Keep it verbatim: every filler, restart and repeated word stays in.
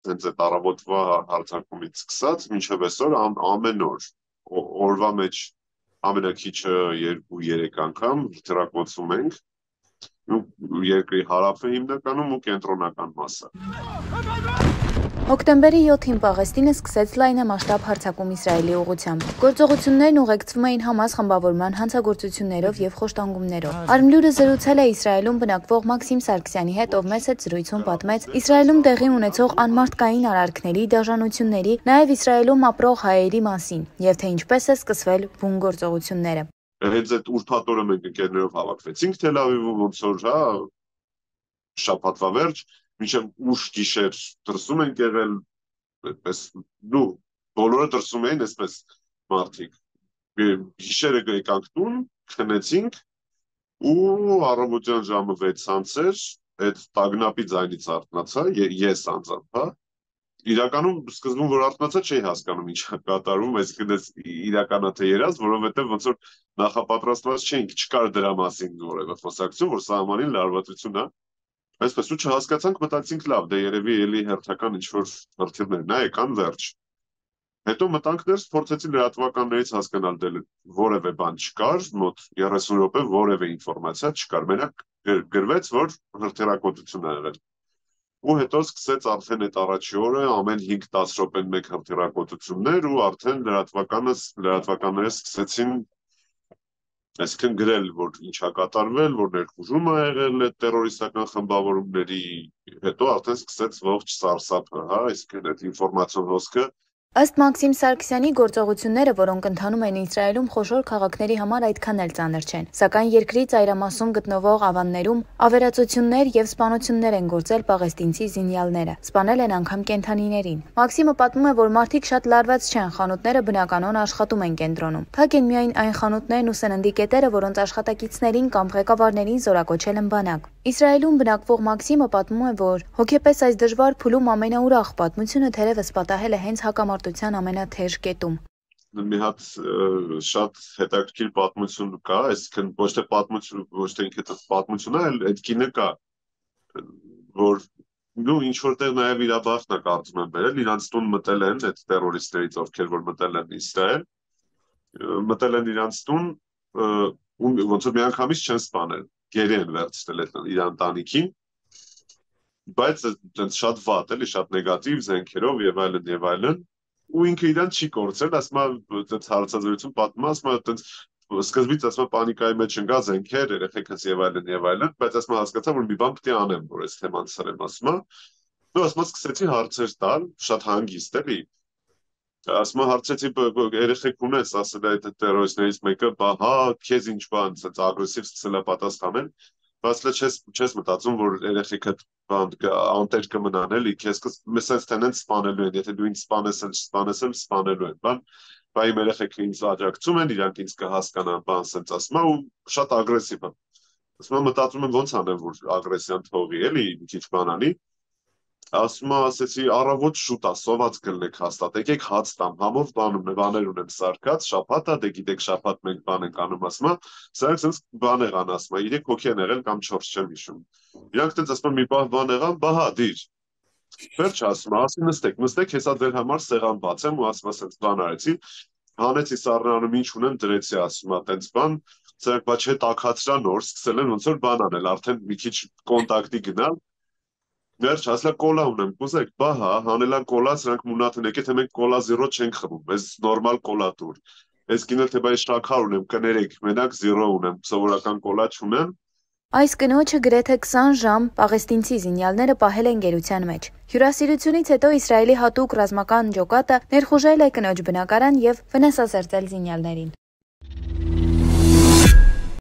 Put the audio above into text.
հենց այդ առավոտվա հարձակումից սկսած մինչև այսօր ամեն օր օրվա մեջ ամենակիչը երկու երեք անգամ հրթիռակոծում ենք երկրի հարավը հիմնականում ու կենտրոնական մասը։ Հոկտեմբերի յոթին Պաղեստինը սկսեց լայնամասշտաբ հարձակում Իսրայելի ուղղությամբ։ Գործողություններն ուղեկցվում էին Համաս խմբավորման հանցագործություններով եւ խոշտանգումներով։ Արմլյուրը զրուցել է Իսրայելում բնակվող Մաքսիմ Սարգսյանի հետ, ով մեծ այդ զրույցում պատմեց Իսրայելում տեղի ունեցող անմարդկային արարքների, դաժանությունների, նաեւ Իսրայելում ապրող հայերի մասին եւ թե ինչպես է սկսվել բուն գործողությունները։ Հենց այդ ուրբաթ օրը մենք ընկերներով հավաքվեցինք Թել Ավիվում, ոնց որ հա շաբաթվա վերջ, մինչև ուշ գիշեր դրսում ենք եղել, այդպես դու բոլորը դրսում էին այսպես մարդիկ։ Գիշերը եկանք տուն, քնեցինք ու առավոտյան ժամը վեցից էր, այդ տագնապի ձայնից արթնացա, ես անձամբ, հա։ Իրականում սկզբում որ արթնացա չէի հասկանում ինչ է կատարվում, այսինքն իրականա թե երազ, որովհետև ոնց որ նախապատրաստված չէինք, չկար դրա մասին որևէ խոսակցություն, որ սահմանին լարվածություն է։ Այսպես ու չհասկացանք, մտածինք լավ, դե երևի էլի հերթական ինչ-որ հրթիռներ, նա եկան վերջ։ Հետո մտանք ներս, փորձեցի լրատվականներից հասկանալ, դե որևէ բան չկար, մոտ երեսուն րոպե որևէ ինֆորմացիա չկար, մենակ գրվեց, որ հրթիռակոծություն է եղել։ Ու հետո սկսեց արդեն այդ առաջի օրը ամեն հինգ-տասը րոպեն մեկ հրթիռակոծություններ ու արդեն լրատվականը լրատվականները սկսեցին այսինքն գրել, որ ինչ է կատարվել, որ ներխուժում է եղել այդ տերորիստական խմբավորումների, հետո արդեն սկսեց ողջ սարսափը, հա, այսինքն այդ ինֆորմացիոն հոսքը։ Ըստ Մաքսիմ Սարգսյանի գործողությունները, որոնք ընթանում են Իսրայելում, խոշոր քաղաքների համար այդքան էլ ծանր չեն, սակայն երկրի ծայրամասում գտնվող ավաններում ավերածություններ եւ սպանություններ են գործել պաղեստինցի զինյալները, սպանել են անգամ կենդանիներին։ Մաքսիմը պատմում է, որ մարդիկ շատ լարված չեն, խանութները բնականon աշխատում են կենտրոնում։ Փակ են միայն այն խանութներն ու սննդի կետերը, որոնց աշխատակիցներին կամ ղեկավարներին զորակոչել են բանակ։ Իսրայելում բնակվող Մաքսիմը պատմում է, որ հոգեպես այս դժվար փուլում ամենաուրախ պատմությունը թերևս պատահել է հենց հակամարտության ամենաթեժ կետում։ Մի հատ շատ հետաքրքիր պատմություն կա, այսինքն ոչ թե պատմություն, ոչ թե ինքը պատմությունն է, այլ այդ կինը կա, որ նու ինչ որտեղ նաև իր բախտն է կարծում եմ բերել, իրանց տուն մտել են այդ տերորիստներից, ովքեր որ մտել են Իսրայել, մտել են իրանց տուն, ոնց որ միանգամից չեն սպանել, գերի են վերցնել իր ընտանիքին, բայց շատ վատ էլի, շատ նեգատիվ զենքերով եւ այլն եւ այլն, ու ինքը իրան չի կորցրել, ասում է այդ հարցազրույցում պատմում, ասում է այդպես սկզբից ասում է պանիկայի մեջ ընկա զենքեր, երեխեքս եւ այլն եւ այլն, բայց ասում է հասկացա, որ մի բան պետք է անեմ, որ այս թեման սրեմ, ասում է, ու ասում է սկսեցի հարցեր տալ, շատ հանգիստ էլի, ասում է հարցեցի երեխեք ունես, ասել է այդ տերորիստներից մեկը, բա հա, քեզ ինչ բան, ասած ագրեսիվ սկսել է պատասխանել, բայց լե չես չես մտածում, որ երեխեքը բան անտեր կմնան էլի, քեզ մեսենց տենենց սպանելու են, եթե դու ինձ սպանես, սպանես, սպանելու են, բան, բա իմ երեխեքը ինձ աջակցում են, իրանք ինձ կհասկանան, բան, սենց ասում է ու շատ ագրեսիվ է։ Ասում է մտածում եմ ոնց անեմ, որ ագրեսիան թողի, էլի, մի քիչ բան անի։ Ասում է, ասեցի, առավոտ շուտ է, սոված կլնեք հաստատ, եկեք հաց տամ, համով բանում բաներ ունեմ սարկած, շաբաթ է, դե գիտեք շաբաթ մենք բան ենք անում, ասում է, սրանք սենց բան եղան, ասում է, երեք հոգի են եղել կամ չորս չեմ հիշում։ Իրանք տենց ասում են մի պահ բան եղան, բա հա, դիր։ Վերջ ասում է, ասի նստեք, նստեք, հեսա ձեր համար սեղան բացեմ ու ասում է, սենց բան արեցի, հանեցի սառնանում ինչ ունեմ դրեցի, ասում է, տենց բան, սրանք բա չէ տաքացրա նոր, սկսել են ոնց որ բան անել, արդեն մի քիչ կոնտակտի գնալ։ Վերջ, ասլա կոլա ունեմ, կուզեք, բա հա, հանելան կոլա, սրանք մունաթ ունեք, եթե մենք կոլա զիրո չենք խմում, ես նորմալ կոլա տուր, ես կինել թե բայ շաքար ունեմ, կներեք, մենակ զիրո ունեմ, սովորական կոլա չունեմ։ Այս կնոջը գրեթե քսան ժամ պաղեստինցի զինյալները պահել են գերության մեջ։ Հյուրասիրությունից հետո Իսրայելի հատուկ ռազմական ջոկատը ներխուժել է կնոջ բնակարան եւ վնասազերծել զինյալներին։